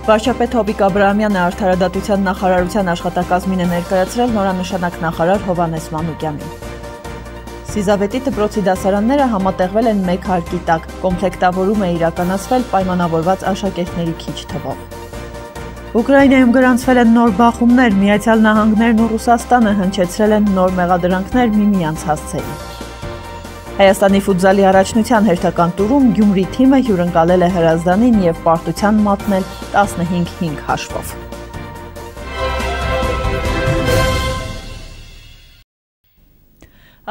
Վարչապետ Հովիկ Աբրահամյանը Արդարադատության նախարարության աշխատակազմին է ներկայացրել նորանշանակ նախարար Հովհաննես Մանուկյանին։ Սիզավետի դպրոցի դասարանները համատեղվել են մեկ հարկի տակ, կոմպլեկտավորում է իրականացվել պայմանավորված աշակերտների քիչ թվով։ Ուկրաինայում գրանցվել են նոր բախումներ, Միացյալ Նահանգներն ու Ռուսաստանը հնչեցրել են նոր մեղադրանքներ միմյանց հասցեին։ Հայաստանի ֆուտզալի առաջնության հերթական տուրում Գյումրի թիմը հյուրընկալել է Հրազդանին և պարտության մատնել 15-5 հաշվով։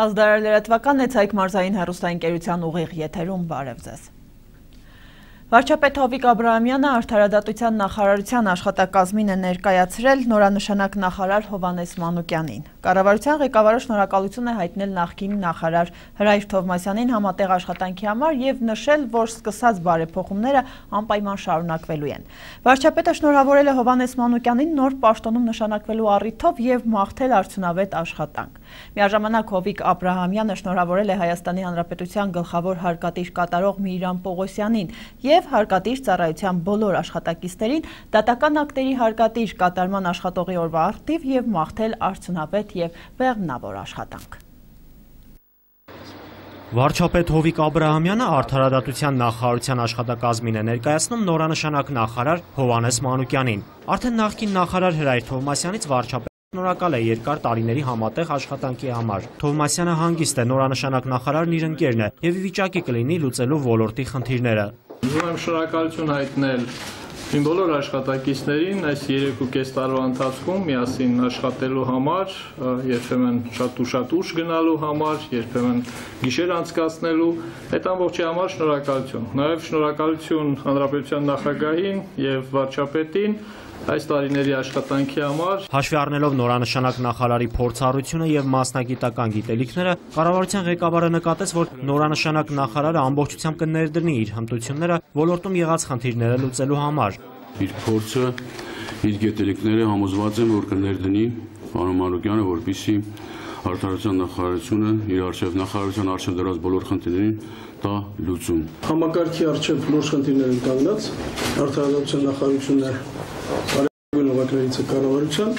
Ազդարար լրատվականն է, Ցայք մարզային հեռուստաընկերության ուղիղ եթերում, բարև ձեզ։ Վարչապետ Հովիկ Աբրահամյանը Արդարադատության նախարարության աշխատակազմին է ներկայացրել նորանշանակ նախարար Հովհաննես Մանուկյանին։ Կառավարության ղեկավարը շնորհակալություն է հայտնել նախկին նախարար Հրայր Թովմասյանին համատեղ աշխատանքի համար և նշել, որ սկսած բարեփոխումները անպայման շարունակվելու են։ Վարչապետը շնորհավորել է Հովհաննես Մանուկյանին նոր պաշտոնում նշանակվելու առիթով և մաղթել արդյունավետ աշխատանք։ Միաժամանակ Հովիկ Աբրահամյանը շնորհավորել է Հայաստանի Հանրապետության գլխավոր հարկատիր կատարող Միրիրամ Պողոսյանին և հարկատիր ծառայության բոլոր աշխատակիցներին դատական ակտերի հարկատիր կատարման աշխատողի օրվա առթիվ և մաղթել արդյունավետ և բեղմնավոր աշխատանք։ Վարչապետ Հովիկ Աբրահամյանը Արդարադատության նախարարության աշխատակազմին է ներկայացնում նորանշանակ նախարար Հովհաննես Մանուկյանին։ Արդեն նախկին նախարար Հրայր Թովմասյանից վարչապետը շնորհակալ է երկար տարիների համատեղ աշխատանքի համար։ Թովմասյանը հանգիստ է, նորանշանակ նախարարն իր ընկերն է և ի վիճակի կլինի լուծելու ոլորտի խնդիրները։ Ուզում եմ շնորհակալություն հայտնել իմ բոլոր աշխատակիցներին այս 3.5 տարվա ընթացքում միասին աշխատելու համար, երբեմն շատ ուշ գնալու համար, երբեմն գիշեր անցկացնելու, այդ ամբողջի համար շնորհակալություն։ Նաև շնորհակալություն Հանրապետության նախագահին և վարչապետին այս տարիների աշխատանքի համար։ Հաշվի առնելով նորանշանակ նախարարի փորձառությունը և մասնագիտական գիտելիքները, կառավարության ղեկավարը նկատեց, որ նորանշանակ նախարարը ամբողջությամբ կներդրի իր հմտությունները ոլորտում եղած խնդիրները լուծելու համար։ Իր փորձը, իր գիտելիքները համոզված եմ, որ կներդնի պարոն Մանուկյանը, որպեսզի Արդարության նախարարությունը իր նախարարության առջև դրած բոլոր խնդիրներին տա լուծում։ Համակարգի առջև բոլոր խնդիրներ են կանգնած, Արդարադատության նախարարությունը կարևորագույն օղակներից է կառավարության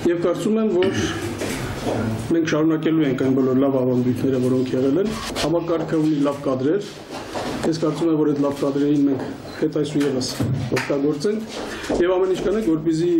և կարծում եմ, որ մենք շարունակելու ենք այն բոլոր լավ ավանդույթները, որոնք եղել են։ Համակարգը ունի լավ կադրեր, ես կարծում եմ, որ այդ լավ կադրերին մենք հետ այսու ևս օգտագործենք և ամեն ինչ կանենք, որպեսզի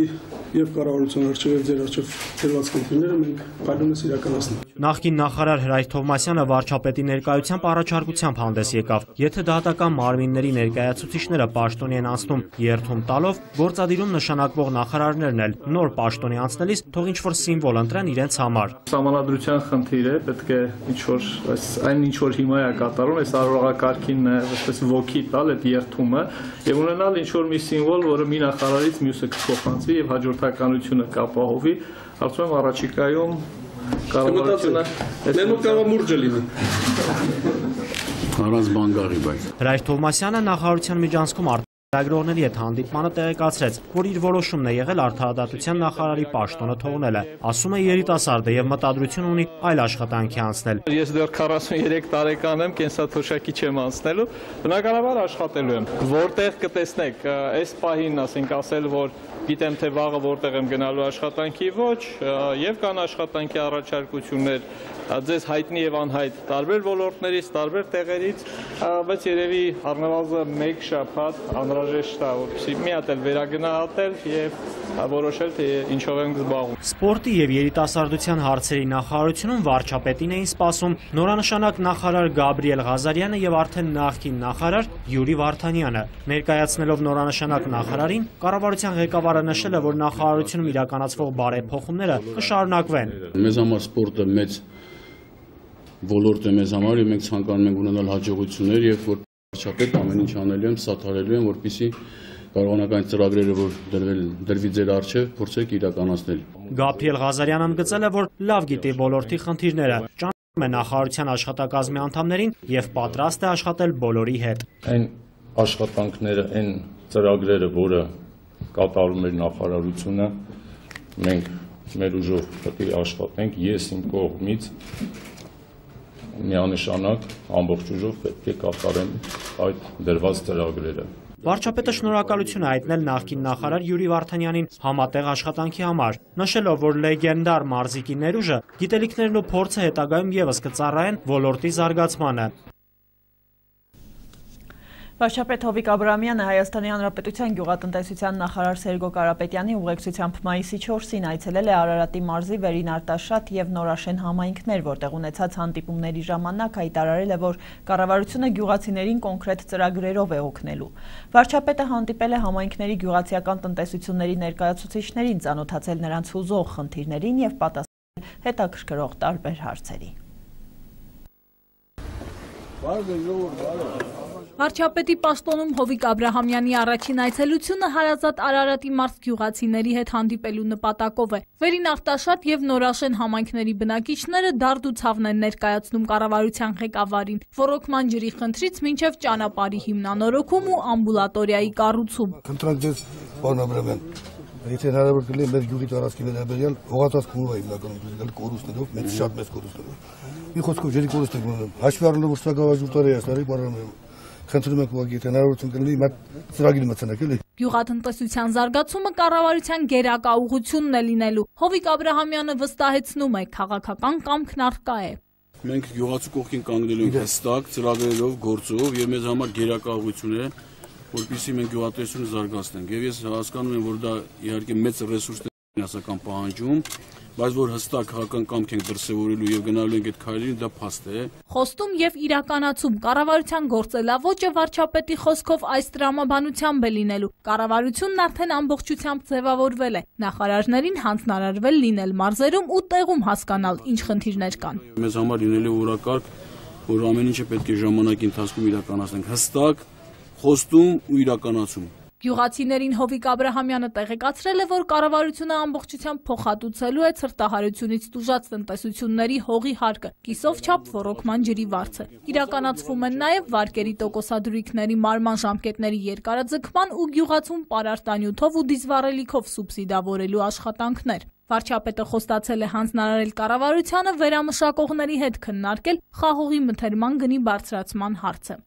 և կառավարության առջև և ձեր առջև դրված խնդիրները մենք փայլունես իրականացնենք։ Նախկին նախարար Հրայր Թովմասյանը վարչապետի ներկայությամբ առաջարկությամբ հանդես եկավ, եթե դատական մարմինների ներկայացուցիչները պաշտոնի են անցնում երթում տալով, գործադիրում նշանակվող նախարարներն էլ նոր պաշտոնի անցնելիս թող ինչ-որ սիմվոլ ընտրեն իրենց համար։ Սահմանադրության խնդիր է, պետք է այն ինչ-որ հիմա է կատարում, այս արարողակարգին այսպես ոգի տալ այդ երթումը և ունենալ ինչ-որ մի սիմվոլ, որը մի նախարարից մյուսը կփոխանցվի և հաջորդականությունը կապահովի, կարծում եմ առաջիկայում կառավարությունը մեր մոտ կարող է մուրճը լինի։ Առանց բան գաղի բայց։ Հրայր Թովմասյանը նախարարության միջանցքում Լրագրողների հետ հանդիպմանը տեղեկացրեց, որ իր որոշումն է եղել Արդարադատության նախարարի պաշտոնը թողնելը։ Ասում է երիտասարդ է և մտադրություն ունի այլ աշխատանքի անցնել։ Ես դեռ 43 տարեկան եմ, կենսաթոշակի չեմ անցնելու, բնականաբար աշխատելու եմ։ Որտեղ կտեսնեք, այս պահին ասենք ասել, որ գիտեմ թե վաղը որտեղ եմ գնալու աշխատանքի ոչ, և կան աշխատանքի առաջարկություններ ձեզ հայտնի և անհայտ տարբեր ոլորտներից, տարբեր տեղերից, բայց երևի առնվազն մեկ շաբաթ անհրաժեշտ է, որպեսզի մի հատ էլ վերագնահատել և որոշել, թե ինչով ենք զբաղվում։ Սպորտի և երիտասարդության հարցերի նախարարությունում վարչապետին էին սպասում նորանշանակ նախարար Գաբրիել Ղազարյանը և արդեն նախկին նախարար Յուրի Վարդանյանը։ Ներկայացնելով նորանշանակ նախարարին, կառավարության ղեկավարը նշել է, որ նախարարությունում իրականացվող բարեփոխումները կշարունակվեն։ Մեզ համար սպորտը մեծ ոլորտ է մեզ համար և մենք ցանկանում ենք ունենալ հաջողություններ և որ վարչապետ ամեն ինչ անելու եմ, սատարելու եմ, որպեսզի կարողանական ծրագրերը, որ դրվի ձեր առջև, փորձեք իրականացնել։ Գաբրիել Ղազարյանը ընդգծել է, որ լավ գիտի ոլորտի խնդիրները, ճանաչում է նախարարության աշխատակազմի անդամներին և պատրաստ է աշխատել բոլորի հետ։ Այն աշխատանքները, այն ծրագրերը, որը կատարում էր նախարարությունը, մենք մեր ուժով պետք է աշխատենք, ես իմ կողմից միանշանակ ամբողջ ուժով պետք է կատարեմ այդ դրված ծրագրերը։ Վարչապետը շնորհակալություն է հայտնել նախկին նախարար Յուրի Վարդանյանին համատեղ աշխատանքի համար, նշելով, որ լեգենդար մարզիկի ներուժը, գիտելիքներն ու փորձը հետագայում ևս կծառայեն ոլորտի զարգացմանը։ Վարչապետ Հովիկ Աբրահամյանը Հայաստանի Հանրապետության գյուղատնտեսության նախարար Սերգո Կարապետյանի ուղեկցությամբ մայիսի 4-ին այցելել է Արարատի մարզի Վերին Արտաշատ և Նորաշեն համայնքներ, որտեղ ունեցած հանդիպումների ժամանակ հայտարարել է, որ կառավարությունը գյուղացիներին կոնկրետ ծրագրերով է օգնելու։ Վարչապետը հանդիպել է համայնքների գյուղացիական տնտեսությունների ներկայացուցիչներին, ծանոթացել նրանց հուզող խնդիրներին և պատասխանել հետաքրքրող տարբեր հարցերի։ Վարչապետի պաշտոնում Հովիկ Աբրահամյանի առաջին այցելությունը հարազատ Արարատի մարզ գյուղացիների հետ հանդիպելու նպատակով է։ Վերին Արտաշատ և Նորաշեն համայնքների բնակիչները դարդ ու ցավն են ներկայացնում կառավարության ղեկավարին, ոռոգման ջրի խնդրից մինչև ճանապարհի հիմնանորոգում ու ամբուլատորիայի կառուցում։ Խնդրանք ձեզ, պարոն Աբրահամյան, եթե հնարավոր կլինի մեր գյուղի տարածքի վերաբերյալ հողատած քուրով է հիմնականում կորուստներով, շատ մեծ կորուստներով։ Մի խոսքով ջրի կորուստ ենք ունենում։ Հաշվի առնելով որ սա գավազուրտարի է, սարի պարոն խնդրում եք ուղղակի եթե հնարավորություն կլինի մատ ծրագիր մտցնեք էլի։ Գյուղատնտեսության զարգացումը կառավարության գերակա ուղղությունն է լինելու։ Հովիկ Աբրահամյանը վստահեցնում է, քաղաքական կամքն առկա է։ Մենք գյուղացու կողքին կանգնելու ենք հստակ ծրագրերով, գործով եւ մեզ համար գերակա ուղղություն է, որպեսզի մենք գյուղատնտեսությունը զարգացնենք։ Եվ ես հասկանում եմ, որ դա իհարկե մեծ ռեսուրսներ ֆինանսական պահանջում, բայց որ հստակ քաղաքական կամք ենք դրսևորելու եւ գնալու ենք այդ քայլերին, դա փաստ է։ Խոստում եւ իրականացում կառավարության գործելավոճը վարչապետի խոսքով այս տրամաբանությամբ է լինելու։ Կառավարությունն արդեն ամբողջությամբ ձևավորվել է։ Նախարարներին հանձնարարվել լինել մարզերում ու տեղում հասկանալ ինչ խնդիրներ կան։ Մեզ համար լինելու օրակարգ, որ ամեն ինչը պետք է ժամանակի ընթացքում իրականացնենք, հստակ խոստում ու իրականացում։ Գյուղացիներին Հովիկ Աբրահամյանը տեղեկացրել է, որ կառավարությունը ամբողջությամբ փոխհատուցելու է ցրտահարությունից տուժած տնտեսությունների հողի հարկը, կիսով չափ ոռոգման ջրի վարձը։ Իրականացվում են նաև վարկերի տոկոսադրույքների մարման ժամկետների երկարաձգման ու գյուղացում պարարտանյութով ու դիզվառելիքով սուբսիդավորելու աշխատանքներ։ Վարչապետը խոստացել է հանձնարարել կառավարությանը վերամշակողների հետ քննարկել խաղողի մթերման գնի բարձրացման հարցը։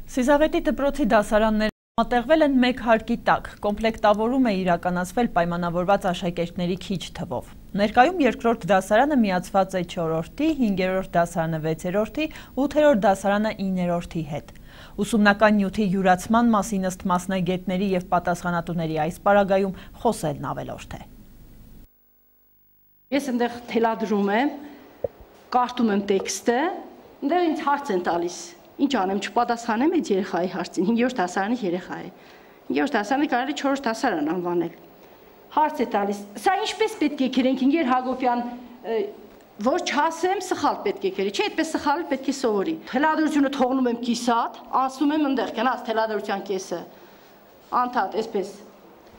Սիզավետի դպրոցի դասարանները համատեղվել են մեկ հարկի տակ, կոմպլեկտավորում է իրականացվել պայմանավորված աշակերտների քիչ թվով։ Ներկայում երկրորդ դասարանը միացված է 4-րդի, 5-րդ դասարանը 6-րդի, 8-րդ դասարանը 9-րդի հետ։ Ուսումնական նյութի յուրացման մասին ըստ մասնագետների և պատասխանատուների այս պարագայում խոսելն ավելորդ է։ Ես ընդեղ թելադրում եմ, կարդում եմ տեքստը, ընդեղ ինձ հարց են տալիս։ Ինչ անեմ, չպատասխանեմ այդ երեխայի հարցին, 5-րդ դասարանի երեխա է։ 5-րդ դասարանը կարելի 4-րդ դասարան անվանել։ Հարց է տալիս, սա ինչպես պետք է գրենք, Ինգեր Հակոբյան, որ չասեմ, սխալ պետք է գրի, չէ, այդպես սխալը պետք է սովորի։ Թելադրությունը թողնում եմ կիսատ, անցնում եմ ընդեղ, գնաց թելադրության կեսը, անդադ, այսպես։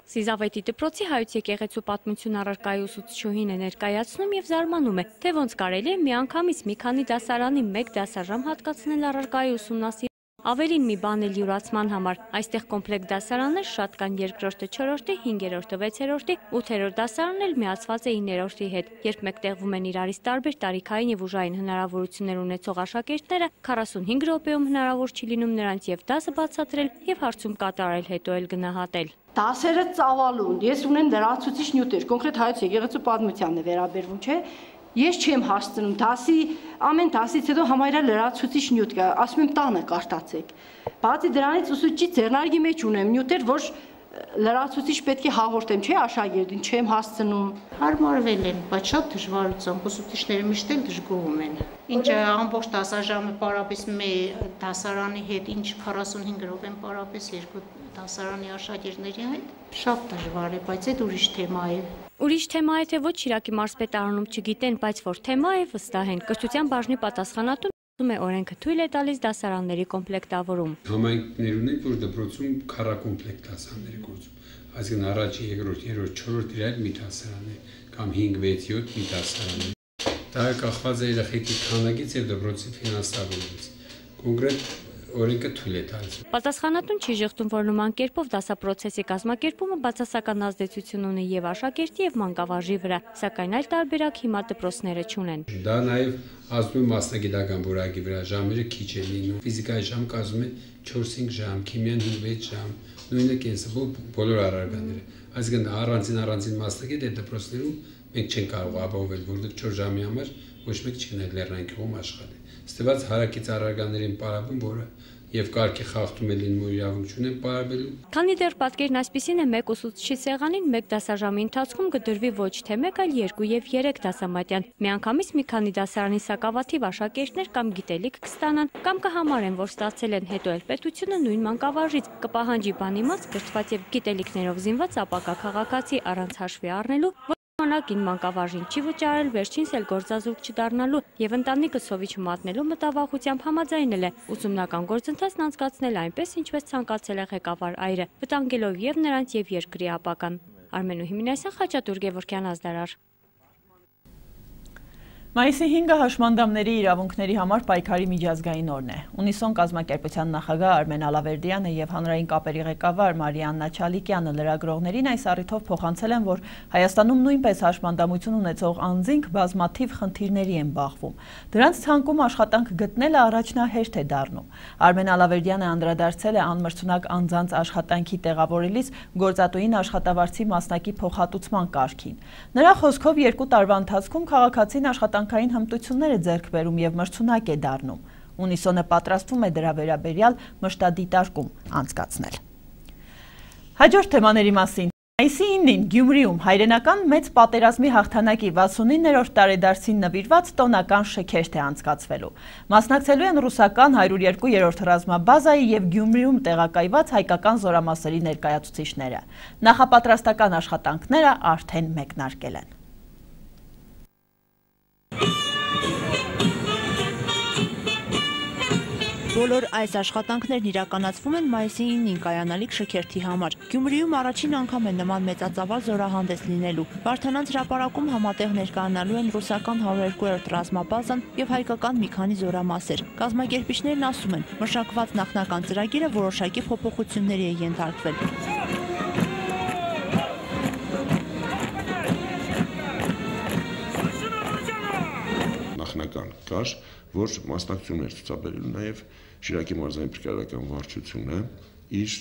Սիզավետի դպրոցի հայոց եկեղեցու պատմություն առարկայի ուսուցչուհին է ներկայացնում եւ զարմանում է, թե ոնց կարելի է միանգամից մի քանի դասարանի մեկ դասաժամ հատկացնել առարկայի ուսումնասիրման ավելին մի բան էլ յուրացման համար։ Այստեղ կոմպլեկտ դասարաններ շատ կան 2-րդը 4-րդի, 5-րդը 6-րդի, 8-րդ դասարանն էլ միացված է 9-րդի հետ։ Երբ մեկտեղվում են իրարից տարբեր տարիքային եւ ուժային հնարավորություններ ունեցող աշակերտները, 45 րոպեում հնարավոր չի լինում նրանց եւ դասը բացատրել եւ հարցում կատարել, հետո էլ գնահատել։ Դասերը ծավալուն, ես ունեմ լրացուցիչ նյութեր, կոնկրետ հայոց եկեղեցու պատմությանն է վերաբերվում, չէ։ Ես չեմ հասցնում, ամեն դասից հետո համարյա լրացուցիչ նյութ կա, ասում եմ տանը կարտացեք։ Բացի դրանից ուսուցիչի ձեռնարկի մեջ ունեմ նյութեր, որ լրացուցիչ պետք է հաղորդեմ, չէ, աշակերտին, չեմ հասցնում։ Հարմարվել են, բայց շատ դժվարությամբ, ուսուցիչները միշտ էլ դժգոհում են։ Ինչ ամբողջ դասաժամը պարապես մի դասարանի հետ, ինչ 45 րոպեն պարապես երկու դասարանի աշակերտների հետ, շատ դժվար է, բայց այդ ուրիշ թեմա է։ Ուրիշ թեմա է, թե ոչ Շիրակի մարզպետարանում չգիտեն, բայց որ թեմա է, վստահ են։ Կրթության բաժնի պատասխանատուն ասում է, օրենքը թույլ է տալիս դասարանների կոմպլեկտավորում։ Համայնքներ ունենք, որ դպրոցում քառակոմպլեկտ դասարաններ է գործում։ Այսինքն առաջի, երկրորդ, երրորդ, չորրորդ իրար մի դասարան է, կամ 5, 6, 7 մի դասարան է։ Դա կախված է երեխեքի քանակից եւ դպրոցի ֆինանսավորումից։ Կոնկրետ օրենքը թույլ է տալիս։ Պատասխանատուն չի ժխտում, որ նման կերպով դասապրոցեսի կազմակերպումը բացասական ազդեցություն ունի եւ աշակերտի եւ մանկավարժի վրա, սակայն այլ տարբերակ հիմա դպրոցները չունեն։ Դա նաեւ ազդում է մասնագիտական որակի վրա, ժամերը քիչ են լինում, ֆիզիկայի ժամ կազմում է 4-5 ժամ, քիմիան 5-6 ժամ, նույնը կենսաբու բոլոր առարկաները։ Այսինքն առանձին մասնագետ է դպրոցներում մենք չենք կարող ապահովել, որովհետեւ 4 ժամի համար ոչ մեկ չի գնալ լեռնային գյուղում աշխատի։ Ստված հարակից առարգաներին պարապում, որը եւ կարգի խախտում է լինում ու իրավունք չունեն պարապելու։ Քանի դեռ պատկերն այսպիսին է, մեկ ուսուցչի սեղանին մեկ դասաժամի ընթացքում կդրվի ոչ թե 1, այլ 2 եւ 3 դասամատյան։ Միանգամից մի քանի դասարանի սակավաթիվ աշակերտներ կամ գիտելիք կստանան, կամ կհամարեն, որ ստացել են հետո էլ պետությունը նույն մանկավարժից կպահանջի բանիմաց կրթված եւ գիտելիքներով զինված ապակա քաղաքացի առանց հաշվի առնելու, Մանակին մանկավարժին չի վճարել, վերջինս էլ գործազուրկ չդառնալու եւ ընտանիքը սովի չմատնելու մտավախությամբ համաձայնել է ուսումնական գործընթացն անցկացնել այնպես, ինչպես ցանկացել է ղեկավար այրը, վտանգելով եւ նրանց եւ երկրի ապական։ Արմենու Հիմինասյան, Խաչատուր Գևորգյան, Ազդարար։ Մայիսի 5-ը հաշմանդամների իրավունքների համար պայքարի միջազգային օրն է։ Ունիսոն կազմակերպության նախագահ Արմեն Ալավերդյանը եւ հանրային կապերի ղեկավար Մարիաննա Չալիկյանը լրագրողներին այս առիթով փոխանցել են, որ Հայաստանում նույնպես հաշմանդամություն ունեցող անձինք բազմաթիվ խնդիրների են բախվում։ Դրանց ցանկում աշխատանք գտնելը առաջնահերթ է դառնում։ Արմեն Ալավերդյանը անդրադարձել է անմրցունակ անձանց աշխատանքի տեղավորելիս գործատուին աշխատավարձի մասնակի փոխհատուցման կարգին։ Նրա խոսքով 2 տարվա ընթացքում քաղաքացին աշխատանքային հմտություններ է ձեռք բերում եւ մրցունակ է դառնում։ Ունիսոնը պատրաստվում է դրա վերաբերյալ մշտադիտարկում անցկացնել։ Հաջորդ թեմաների մասին։ Մայիսի 9-ին Գյումրիում հայրենական մեծ պատերազմի հաղթանակի 69-րդ տարեդարձին նվիրված տոնական շքերթ է անցկացվելու։ Մասնակցելու են ռուսական 102-րդ ռազմաբազայի եւ Գյումրիում տեղակայված հայկական զորամասերի ներկայացուցիչները։ Նախապատրաստական աշխատանքները արդեն մեկնարկել են։ Բոլոր այս աշխատանքներն իրականացվում են մայիսի 9-ին կայանալիք շքերթի համար։ Գյումրիում առաջին անգամ է նման մեծածավալ զորահանդես լինելու։ Վարդանանց հրապարակում համատեղ ներկայանալու են ռուսական 102-րդ ռազմաբազան եւ հայկական մի քանի զորամասեր։ Կազմակերպիչներն ասում են, մշակված նախնական ծրագիրը որոշակի փոփոխությունների է ենթարկվել։ Նախնական կար, որ մասնակցություններ ցուցաբերելու նաև Շիրակի մարզային փրկարարական վարչությունը իր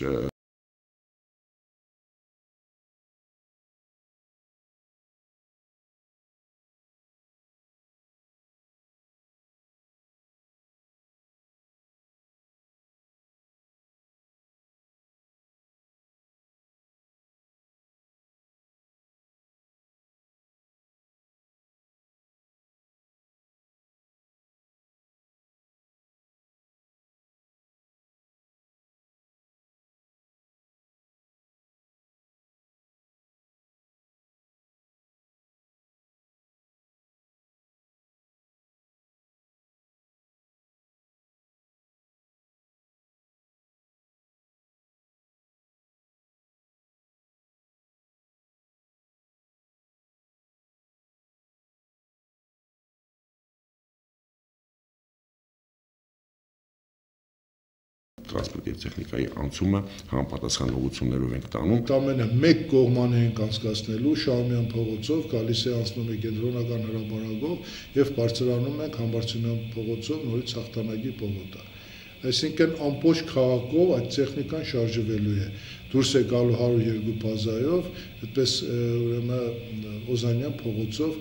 տրանսպորտ եւ տեխնիկայի անցումը համապատասխան ուղղություններով ենք տանում։ Ամենը մեկ կողմանը ենք անցկացնելու Շահումյան փողոցով, գալիս է անցնում է կենտրոնական հրապարակով եւ բարձրանում ենք Համբարձումյան փողոցով նորից Հաղթանակի պողոտա։ Այսինքն ամբողջ քաղաքով այդ տեխնիկան շարժվելու է։ Դուրս է գալու 102 բազայով, այդպես ուրեմն Օզանյան փողոցով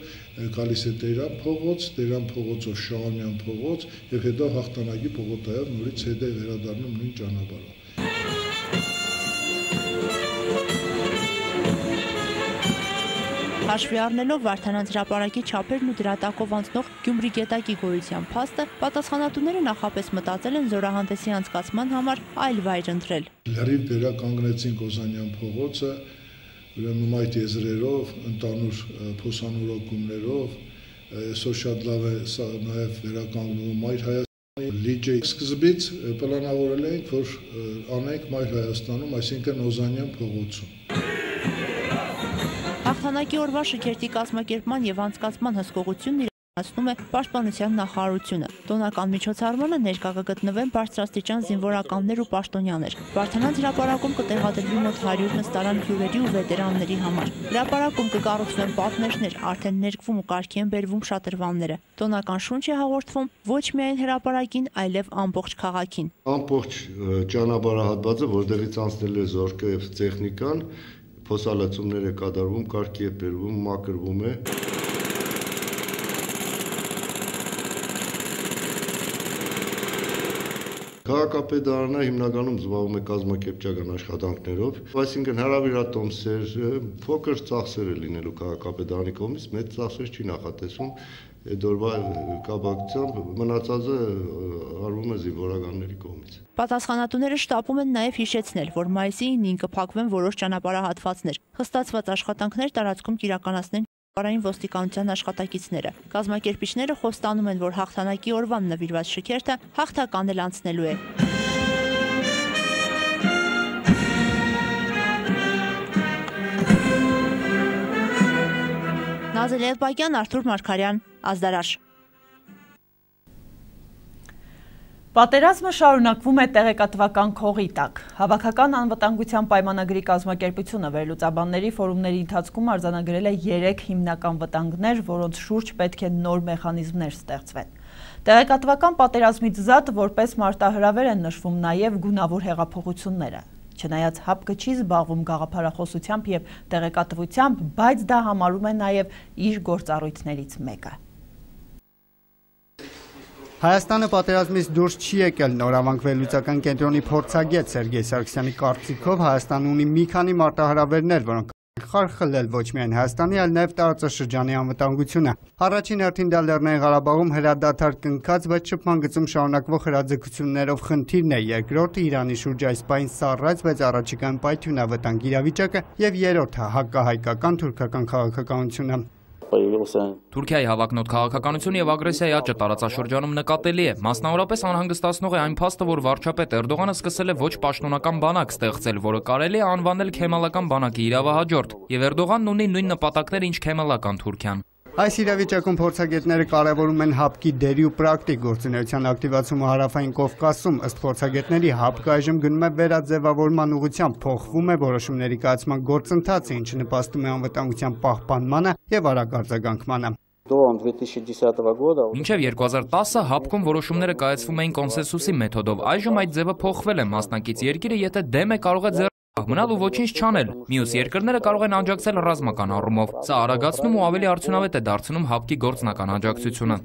գալիս է Տերյան փողոցով Շահումյան փողոց եւ հետո Հաղթանակի պողոտայով նորից հետ է վերադառնում նույն ճանապարհով։ Հաշվի առնելով Վարդանանց հրապարակի չափերն ու դրա տակով անցնող Գյումրի գետակի գոյության փաստը, պատասխանատուները նախապես մտածել են զորահանդեսի անցկացման համար այլ վայր ընտրել։ Լրիվ վերականգնեցինք Օզանյան փողոցը, ուրեմն այդ եզրերով, ընդանուր փոսանորոգումներով, այսօր շատ լավ է սա նաև վերականգնվում Մայր Հայաստանի լիճի սկզբից պլանավորել էինք, որ անենք Մայր Հայաստանում, այսինքն Օզանյան փողոցում։ Հաղթանակի օրվա շքերթի կազմակերպման եւ անցկացման հսկողությունն ասում է Պաշտպանության նախարարությունը։ Տոնական միջոցառմանը ներկա կգտնվեն բարձրաստիճան զինվորականներ ու պաշտոնյաներ։ Վարդանանց հրապարակում կտեղադրվի մոտ 100 նստարան հյուրերի ու վետերանների համար։ Հրապարակում կկառուցվեն պատնեշներ, արդեն ներկվում ու կարգի են բերվում շատրվանները։ Տոնական շունչ է հաղորդվում ոչ միայն հրապարակին, այլև ամբողջ քաղաքին։ Ամբողջ ճանապարհահատվածը, որտեղից անցնելու է զորքը եւ տեխնիկան, փոսալացումներ է կատարվում, կարգի է բերվում, մաքրվում է։ Քաղաքապետարանը հիմնականում զբաղվում է կազմակերպչական աշխատանքներով, այսինքն հրավիրատոմսեր, փոքր ծախսեր է լինելու քաղաքապետարանի կողմից, մեծ ծախսեր չի նախատեսվում, այդ օրվա կապակցությամբ մնացածը արվում է զինվորականների կողմից։ Պատասխանատուները շտապում են նաև հիշեցնել, որ մայիսի 9-ին կփակվեն որոշ ճանապարհահատվածներ, խստացված աշխատանքներ տարածքում կիրականացնեն Պարային ոստիկանության աշխատակիցները։ Կազմակերպիչները խոստանում են, որ հաղթանակի օրվան նվիրված շքերթը հաղթական էլ անցնելու է։ Նազել Էլբակյան, Արթուր Մարգարյան, Ազդարաշ։ Պատերազմը շարունակվում է տեղեկատվական քողի տակ։ Հավաքական անվտանգության պայմանագրի կազմակերպությունը վերլուծաբանների ֆորումների ընթացքում արձանագրել է 3 հիմնական վտանգներ, որոնց շուրջ պետք է նոր մեխանիզմներ ստեղծվեն։ Տեղեկատվական պատերազմից զատ որպես մարտահրավեր են նշվում նաև գունավոր հեղափոխությունները։ Չնայած ՀԱՊԿ չի զբաղվում գաղափարախոսությամբ եւ տեղեկատվությամբ, բայց դա համարում է նաև իր գործառույթներից մեկը։ Հայաստանը պատերազմից դուրս չի եկել նորավանք վերլուծական կենտրոնի փորձագետ Սերգեյ Սարգսյանի կարծիքով Հայաստանը ունի մի քանի մարտահրավերներ, որոնք խարխլել ոչ միայն Հայաստանի, այլ նաև տարածաշրջանի անվտանգությունը։ Առաջին հերթին դա Լեռնային Ղարաբաղում հրադադար կնքած, բայց շփման գծում շարունակվող հրաձգություններով խնդիրն է, երկրորդը Իրանի շուրջ այս պահին սառած, բայց առաջիկայում պայթյունավտանգ իրավիճակը եւ երրորդը հակահայկական թուրքական քաղաքականությունը։ Թուրքիայի հավակնոտ քաղաքականությունը եւ ագրեսիայի աճը տարածաշրջանում նկատելի է։ Մասնավորապես անհանգստացնող է այն փաստը, որ վարչապետ Էրդողանը սկսել է ոչ պաշտոնական բանակ ստեղծել, որը կարելի է անվանել քեմալական բանակի իրավահաջորդ, եւ Էրդողանն ունի նույն նպատակներ, ինչ քեմալական Թուրքիան։ Այս իրավիճակում փորձագետները կարևորում են ՀԱՊԿ-ի դերի ու պրակտիկ գործունեության ակտիվացումը Հարավային Կովկասում, ըստ փորձագետների ՀԱՊԿ-ը այժմ գնում է վերաձևավորման ուղղությամբ, փոխվում է որոշումների կայացման գործընթացը, ինչը նպաստում է անվտանգության պահպանմանը եւ արագ արձագանքմանը։ Մինչև 2010-ը ՀԱՊԿ-ում որոշումները կայացվում էին կոնսենսուսի մեթոդով, այժմ այդ ձևը փոխվել է, մասնակից երկիրը եթե դեմ է կարող է մնալ ու ոչինչ չանել։ Մյուս երկրները կարող են աջակցել ռազմական առումով։ Սա արագացնում ու ավելի արդյունավետ է դարձնում ՀԱՊԿ-ի գործնական աջակցությունը։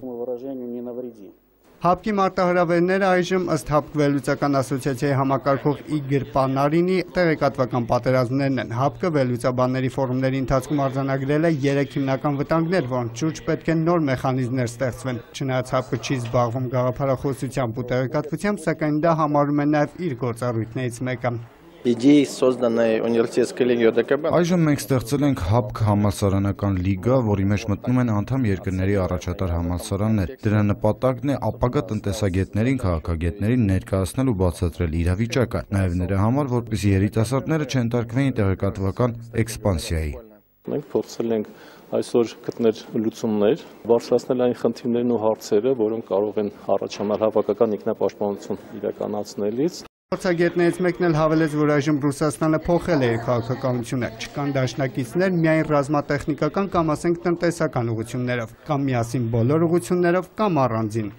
ՀԱՊԿ-ի մարտահրավերները այժմ ըստ ՀԱՊԿ վերլուծական ասոցիացիայի համակարգող Իգոր Պանարինի տեղեկատվական պատերազմներն են։ ՀԱՊԿ-ը վերլուծաբանների ֆորումների ընթացքում արձանագրել է 3 հիմնական վտանգներ, որոնց շուրջ պետք է նոր մեխանիզմներ ստեղծվեն։ Չնայած ՀԱՊԿ-ը չի զբաղվում գաղափարախոսությամբ ու տեղեկատվությամբ, սակայն դա համարում է նաև իր գործառույթներից մեկը։ Այժմ մենք ստեղծել ենք ՀԱՊԿ համալսարանական լիգա, որի մեջ մտնում են անդամ երկրների առաջատար համալսարաններ։ Դրա նպատակն է ապագա տնտեսագետներին, քաղաքագետներին ներկայացնել ու բացատրել իրավիճակը, նաև նրա համար, որպեսզի երիտասարդները չենտարկվեին տեղեկատվական էքսպանսիայի։ Մենք փորձել ենք այսօր գտնել լուծումներ, բարձրացնել այն խնդիրներն ու հարցերը, որոնք կարող են առաջանալ հավաքական ինքնապաշտպանություն իրականացնելիս։ Փորձագետներից մեկն էլ հավելեց, որ այժմ Ռուսաստանը փոխել է իր քաղաքականությունը, չկան դաշնակիցներ միայն ռազմատեխնիկական կամ ասենք տնտեսական ուղղություններով, կամ միասին բոլոր ուղղություններով, կամ առանձին։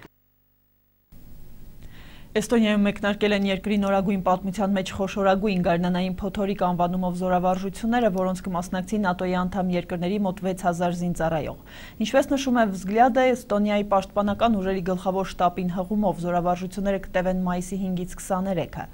Էստոնիայում մեկնարկել են երկրի նորագույն պատմության մեջ խոշորագույն գարնանային փոթորիկ անվանումով զորավարժությունները, որոնց կմասնակցի ՆԱՏՕ-ի անդամ երկրների մոտ 6000 զինծառայող։ Ինչպես նշում է Վզգլյադը, Էստոնիայի պաշտպանական ուժերի գլխավոր շտաբին հղումով զորավարժությունները կտևեն մայիսի 5-ից 23-ը։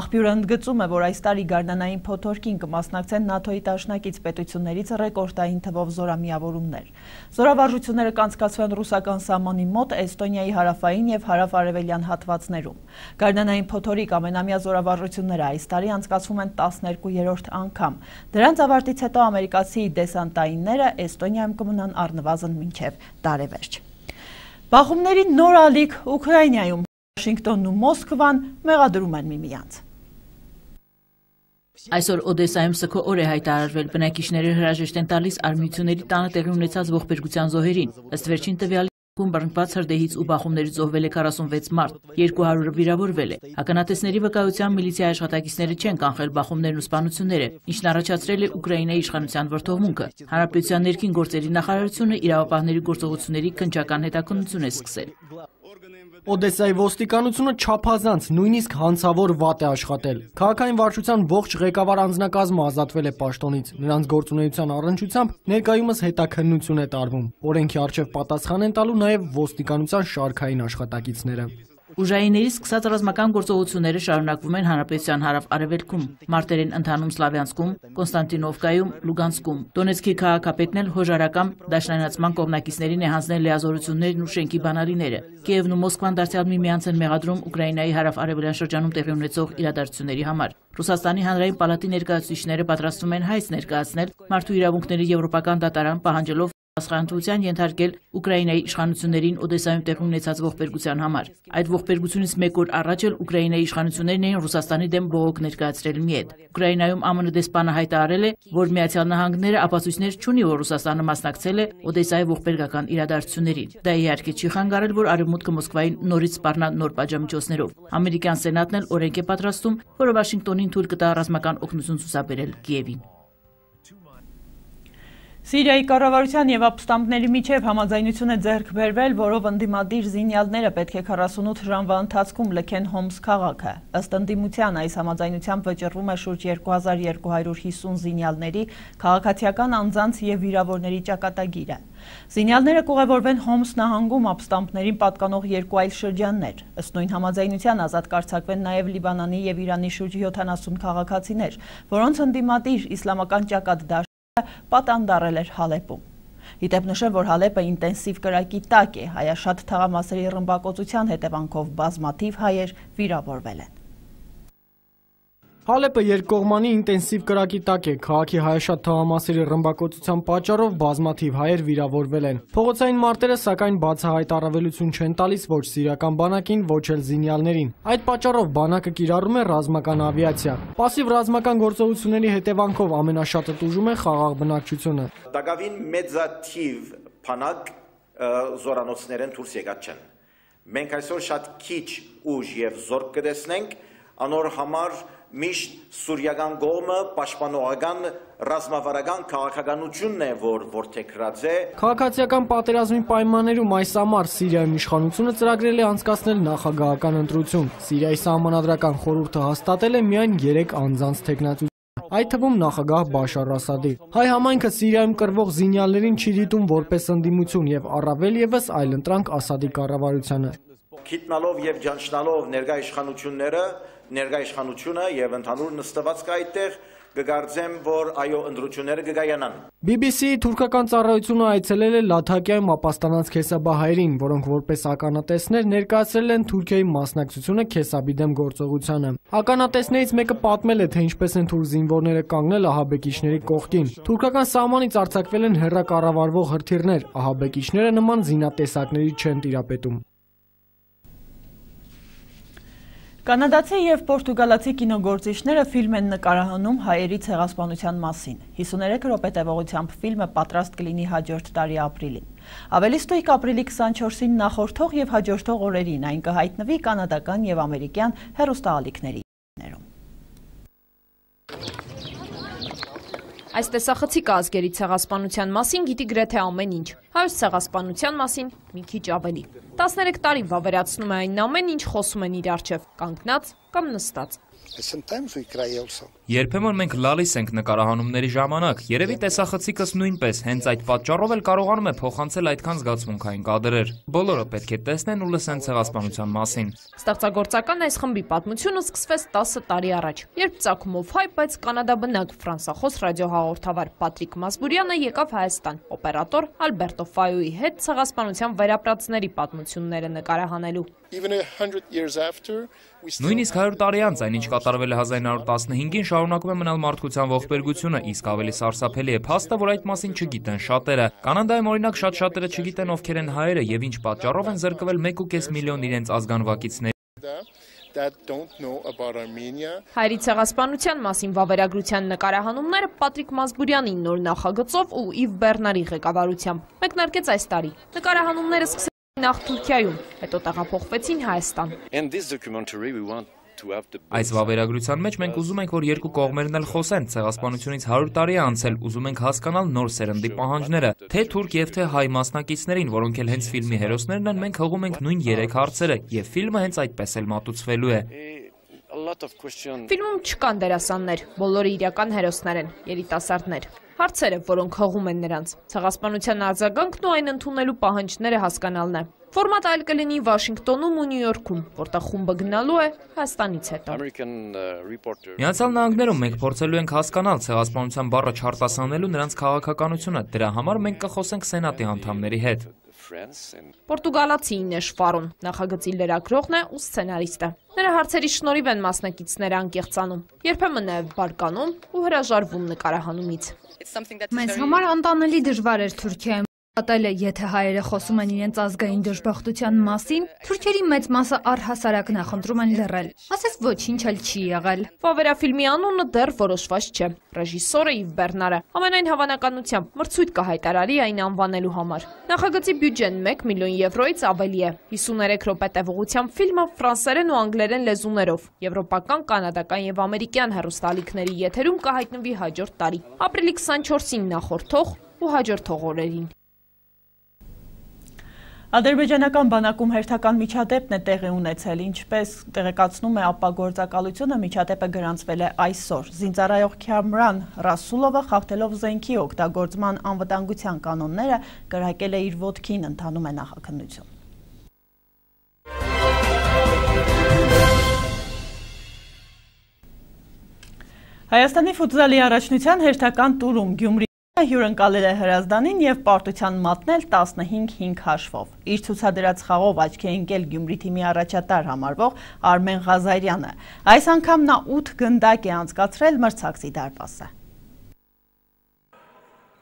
Աղբյուրը ընդգծում է, որ այս տարի գարնանային փոթորկին կմասնակցեն ՆԱՏՕ-ի դաշնակից պետություններից ռեկորդային թվով զորամիավորումներ։ Զորավարժությունները կանցկացվեն ռուսական սահմանի մոտ Էստոնիայի հարավային եւ հարավ-արևելյան հատվածներում։ Գարնանային փոթորիկ ամենամյա զորավարժությունները այս տարի անցկացվում են 12-րդ անգամ։ Դրանց ավարտից հետո ամերիկացի դեսանտայինները Էստոնիայում կմնան առնվազն մինչև տարեվերջ։ Բախումների նոր ալիք Ուկրաինայում Վաշինգտոնն ու Մոսկվան մեղադրում են միմյանց։ Այսօր Օդեսայում սգո օր է հայտարարվել, բնակիչները հրաժեշտ են տալիս արմիությունների տանը տեղի ունեցած ողբերգության զոհերին, ըստ վերջին տվյալի բռնկված հրդեհից ու բախումներից զոհվել է 46 մարդ, 200-ը վիրավորվել է։ Ականատեսների վկայությամբ միլիցիայի աշխատակիցները չեն կանխել բախումներն ու սպանությունները, ինչն առաջացրել է Ուկրաինայի իշխանության վրդովմունքը։ Հանրապետության ներքին գործերի նախարարությունը իրավապահների գործողությունների քննչական հետաքննություն է սկսել։ Օդեսայի ոստիկանությունը չափազանց, նույնիսկ հանցավոր վատ է աշխատել։ Քաղաքային վարչության ողջ ղեկավար անձնակազմը ազատվել է պաշտոնից։ Նրանց գործունեության առնչությամբ ներկայումս հետաքննություն է տարվում։ Օրենքի առջև պատասխան են տալու նաև ոստիկանության շարքային աշխատակիցները։ Ուժայինների սկսած ռազմական գործողությունները շարունակվում են հանրապետության հարավ-արևելքում, մարտեր են ընթանում Սլավյանսկում, Կոնստանտինովկայում, Լուգանսկում։ Դոնեցկի քաղաքապետն էլ հոժարակամ դաշնայնացման կողմնակիցներին է հանձնել լիազորություններն ու շենքի բանալիները։ Կիևն ու Մոսկվան դարձյալ միմյանց են մեղադրում Ուկրաինայի հարավ-արևելյան շրջանում տեղի ունեցող իրադարձությունների համար։ Ռուսաստանի հանրային պալատի ներկայացուցիչները պատրաստվում են հայց ներկայացնել մարդու իրավունքների եվրոպական դատարան, պահանջելով Սխանթության ենթարկել Ուկրաինայի իշխանություններին Օդեսայում տեղի ունեցած ողբերգության համար։ Այդ ողբերգությունից մեկ օր առաջ էլ Ուկրաինայի իշխանություններն էին Ռուսաստանի դեմ բողոք ներկայացրել մի հետ։ Ուկրաինայում ԱՄՆ դեսպանը հայտարարել է, որ Միացյալ Նահանգները ապացույցներ չունի, որ Ռուսաստանը մասնակցել է Օդեսայի ողբերգական իրադարձություններին։ Դա իհարկե չի խանգարել, որ Արևմուտքը Մոսկվային նորից սպառնա նոր պատժամիջոցներով։ Ամերիկյան սենատն էլ օրենք է պատրաստում, որը Վաշինգտոնին թույլ կտա ռազմական օգնություն ցուցաբերել Կիևին։ Սիրիայի կառավարության եւ ապստամբների միջև համաձայնություն է ձեռք բերվել, որով ընդդիմադիր զինյալները պետք է 48 ժամվա ընթացքում լքեն Հոմս քաղաքը։ Ըստ ընդդիմության այս համաձայնությամբ վճռվում է շուրջ 2250 զինյալների, քաղաքացիական անձանց եւ վիրավորների ճակատագիրը։ Զինյալները կուղևորվեն Հոմս նահանգում ապստամբներին պատկանող երկու այլ շրջաններ։ Ըստ նույն համաձայնության ազատ կարձակվեն նաեւ Լիբանանի եւ Իրանի շուրջ 70 քաղաքացիներ, որոնց ընդդիմադիր իսլամական ճակատ պատանդարել էր Հալեպում։ Իդեպ նշեմ, որ Հալեպը ինտենսիվ կրակի տակ է, հայաշատ թաղամասերի ռմբակոծության հետևանքով բազմաթիվ հայեր վիրավորվել են։ Հալեպը երկկողմանի ինտենսիվ կրակի տակ է, քաղաքի հայաշատ թաղամասերի ռմբակոծության պատճառով բազմաթիվ հայեր վիրավորվել են։ Փողոցային մարտերը սակայն բացահայտ առավելություն չեն տալիս ոչ սիրիական բանակին, ոչ էլ զինյալներին։ Այդ պատճառով բանակը կիրառում է ռազմական ավիացիա։ Պասիվ ռազմական գործողությունների հետևանքով ամենաշատը տուժում է խաղաղ բնակչությունը։ Դակավին մեծաթիվ բանակ զորանոցներեն դուրս եկած չեն։ Մենք այսօր շատ քիչ ուժ եւ զորք կտեսնենք, անոր համար միշտ սուրիական կողմը պաշտպանողական ռազմավարական քաղաքականությունն է, որ որդեգրած է։ Քաղաքացիական պատերազմի պայմաններում այս ամառ Սիրիայում իշխանությունը ծրագրել է անցկացնել նախագահական ընտրություն։ Սիրիայի սահմանադրական խորհուրդը հաստատել է միայն 3 անձանց թեկնածություն, այդ թվում նախագահ Բաշար Ասադի։ Հայ համայնքը Սիրիայում կռվող զինյալներին չի դիտում որպես ընդդիմություն եւ առավել եւս այլընտրանք Ասադի կառավարությանը։ Գիտնալով եւ ճանչնալով ներկայ իշխանությունը եւ ընդհանուր նստվածքը այդտեղ կգարձեմ, որ այո ընտրությունները կգայանան։ BBC-ի թուրքական ծառայությունը այցելել է Լաթակիայում ապաստանած քեսաբահայերին, որոնք որպես ականատեսներ ներկայացրել են Թուրքիայի մասնակցությունը Քեսաբի դեմ գործողությանը։ Ականատեսներից մեկը պատմել է, թե ինչպես են թուրք զինվորները կանգնել ահաբեկիչների կողքին։ Թուրքական սահմանից արձակվել են հեռակառավարվող հրթիռներ, ահաբեկիչները նման զինատեսակների չեն տիրապետում։ Կանադացի և պորտուգալացի կինոգործիչները ֆիլմ են նկարահանում հայերի ցեղասպանության մասին։ 53 րոպե տևողությամբ ֆիլմը պատրաստ կլինի հաջորդ տարի ապրիլին։ Ավելի ստույգ ապրիլի 24-ին նախորդող և հաջորդող օրերին այն կհայտնվի կանադական և ամերիկյան հեռուստաալիքների ներում։ Այս տեսախցիկը ազգերի ցեղասպանության մասին գիտի գրեթե ամեն ինչ, հայոց ցեղասպանության մասին մի քիչ ավելի։ 13 տարի վավերացնում է այն ամեն ինչ խոսում են իր առջև, կանգնած կամ նստած։ Երբեմն մենք լալիս ենք նկարահանումների ժամանակ, երևի տեսախցիկս նույնպես, հենց այդ պատճառով էլ կարողանում է փոխանցել այդքան զգացմունքային կադրեր։ Բոլորը պետք է տեսնեն ու լսեն ցեղասպանության մասին։ Ստեղծագործական այս խմբի պատմությունը սկսվեց 10 տարի առաջ, երբ ծագումով հայ, բայց կանադաբնակ ֆրանսախոս ռադիոհաղորդավար Պատրիկ Մասբուրյանը եկավ Հայաստան, օպերատոր Ալբերտո Ֆայոյի հետ ցեղասպանության վերապրածների պատմությունները նկարահանելու։ Նույնիսկ 100 տարի անց այն ինչ կատարվել է 1915-ին շարունակում է մնալ մարդկության ողբերգությունը, իսկ ավելի սարսափելի է փաստը, որ այդ մասին չգիտեն շատերը։ Կանադայում օրինակ շատերը չգիտեն ովքեր են հայերը եւ ինչ պատճառով են զրկվել 1.5 միլիոն իրենց ազգանվակիցների։ Հայերի ցեղասպանության մասին վավերագրության նկարահանումները Պատրիկ Մասբուրյանի նոր նախագծով ու Իվ Բեռնարի ղեկավարությամբ մեկնարկեց այս տարի։ Նկարահանումները նախ Թուրքիայում, հետո տեղափոխվեցին Հայաստան։ Այս վավերագրության մեջ մենք ուզում ենք, որ երկու կողմերն էլ խոսեն, ցեղասպանությունից 100 տարի է անցել, ուզում ենք հասկանալ նոր սերնդի պահանջները, թե թուրք եւ թե հայ մասնակիցներին, որոնք էլ հենց ֆիլմի հերոսներն են, մենք հղում ենք նույն 3 հարցերը, եւ ֆիլմը հենց այդպես էլ մատուցվելու է։ Ֆիլմում չկան դերասաններ, բոլորը իրական հերոսներ են, երիտասարդներ։ Հարցերը, որոնք հղում են նրանց, ցեղասպանության արձագանքն ու այն ընդունելու պահանջները հասկանալն է։ Ֆորմատը այլ կլինի Վաշինգտոնում ու Նյու Յորքում, որտեղ խումբը գնալու է Հայաստանից հետո։ Միացյալ Նահանգներում մենք փորձելու ենք հասկանալ ցեղասպանության բառը չարտասանելու նրանց քաղաքականությունը, դրա համար մենք կխոսենք Սենատի անդամների հետ։ Պորտուգալացի Ինեշ Ֆարուն, նախագծի լրագրողն է ու սցենարիստը։ Նրա հարցերի շնորհիվ են մասնակիցները անկեղծանում, երբեմն նաև բարկանում ու հրաժարվում նկարահանումից։ Մեզ համար անտանելի դժվար էր Թուրքիայում պատել է, եթե հայերը խոսում են իրենց ազգային դժբախտության մասին, թուրքերի մեծ մասը առհասարակ նախընտրում են լռել։ Ասես ոչինչ էլ չի եղել։ Վավերաֆիլմի անունը դեռ որոշված չէ։ Ռեժիսորը Իվ Բեռնարը ամենայն հավանականությամբ մրցույթ կհայտարարի այն անվանելու համար։ Նախագծի բյուջեն 1 միլիոն եվրոից ավելի է։ 53 րոպե տևողությամբ ֆիլմը ֆրանսերեն ու անգլերեն լեզուներով, եվրոպական, կանադական եւ ամերիկյան հեռուստաալիքների եթերում կհայտնվի հաջորդ տարի, ապրիլի 24-ին նախորդող ու հաջորդող օրերին։ Ադրբեջանական բանակում հերթական միջադեպն է տեղի ունեցել, ինչպես տեղեկացնում է ԱՊԱ գործակալությունը, միջադեպը գրանցվել է այսօր։ Զինծառայող Քամրան Ռասուլովը խախտելով զենքի օգտագործման անվտանգության կանոնները կրակել է իր ոտքին, ընթանում է նախաքննություն։ Հայաստանի ֆուտզալի առաջնության հերթական տուրում Գյումրի հյուրընկալել է Հրազդանին և պարտության մատնել 15-5 հաշվով։ Իր ցուցադրած խաղով աչքի է ընկել Գյումրի թիմի առաջատար համարվող Արմեն Ղազարյանը։ Այս անգամ նա 8 գնդակ է անցկացրել մրցակցի դարպասը։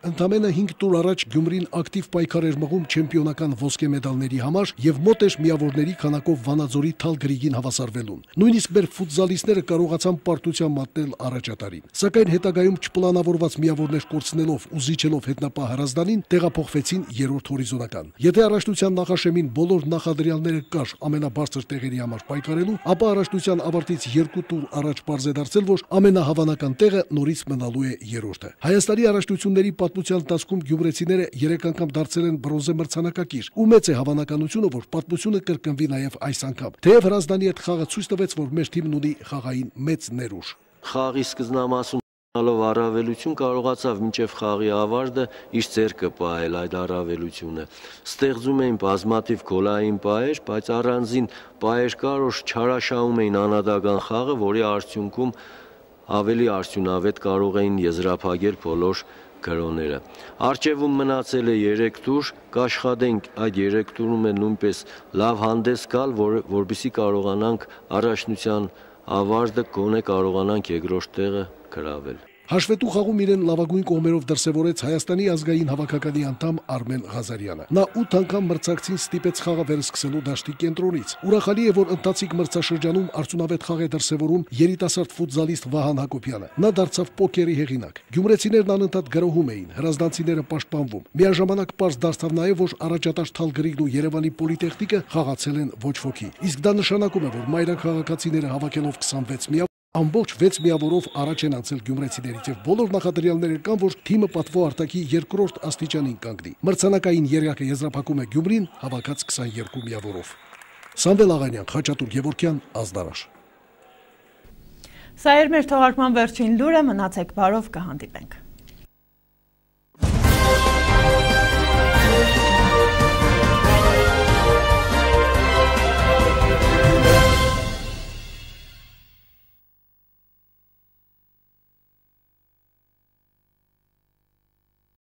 Ընդամենը 5 տուր առաջ Գյումրին ակտիվ պայքար էր մղում չեմպիոնական ոսկե մեդալների համար եւ մոտ էր միավորների քանակով Վանաձորի Թալ Գրիգին հավասարվելուն։ Նույնիսկ մեր ֆուտզալիստները կարողացան պարտության մատնել առաջատարին։ Սակայն հետագայում չպլանավորված միավորներ կորցնելով ու զիջելով հետնապահ Հրազդանին տեղափոխվեցին երրորդ հորիզոնական։ Եթե առաջնության նախաշեմին բոլոր նախադրյալները կար ամենաբարձր տեղերի համար պայքարելու, ապա առաջնության ավարտից 2 տուր առաջ պարզ է դարձել, որ ամենահավանական տեղը նորից մնալու է երրորդը։ Հայաստանի առաջնությունների պատմության ընթացքում գյումրեցիները 3 անգամ դարձել են բրոնզե մրցանակակիր, ու մեծ է հավանականությունը, որ պատմությունը կրկնվի նաև այս անգամ։ Թեև Հրազդանի հետ խաղը ցույց տվեց, որ մեր թիմն ունի խաղային մեծ ներուժ։ Խաղի սկզբնամասում ալով առավելություն կարողացավ մինչև խաղի ավարտը իր ձեռքը պահել այդ առավելությունը։ Ստեղծում էին բազմաթիվ գոլային պահեր, բայց առանձին պահեր կար, որ չարաշահում էին անհատական խաղը, որի արդյունքում ավելի արդյունավետ կարող էին եզրափակել բոլոր գրոները։ Արջևում մնացել է 3 տուր, կաշխատենք այդ 3 տուրում է նույնպես լավ հանդես գալ, որպեսզի կարողանանք առաջնության ավարտը գոնե կարողանանք երկրորդ տեղը գրավել։ Հաշվետու խաղում իրեն լավագույն կողմերով դրսևորեց Հայաստանի ազգային հավաքականի անդամ Արմեն Ղազարյանը։ Նա 8 անգամ մրցակցին ստիպեց խաղը վերսկսելու դաշտի կենտրոնից։ Ուրախալի է, որ ընթացիկ մրցաշրջանում արդյունավետ խաղ է դրսևորում երիտասարդ ֆուտզալիստ Վահան Հակոբյանը։ Նա դարձավ պոկերի հեղինակ։ Գյումրեցիներն անընդհատ գրոհում էին, հրազդանցիները պաշտպանվում։ Միաժամանակ պարզ դարձավ նաև, որ առաջատար Թալ Գրիգն ու Երևանի պոլիտեխնիկը խաղացել են ոչ ոքի։ Իսկ դա նշանակում է, որ մայրաքաղաքացիները հավաքելով 26 միավոր ամբողջ 6 միավորով առաջ են անցել գյումրեցիներից եւ բոլոր նախադրյալները կան, որ թիմը պատվո արտակի երկրորդ աստիճանին կանգնի։ Մրցանակային երյակը եզրափակում է Գյումրին հավաքած 22 միավորով։ Սամվել Աղանյան, Խաչատուր Գևորգյան, Ազդարաշ։ Սա էր մեր թողարկման վերջին լուրը, մնացեք բարով, կհանդիպենք։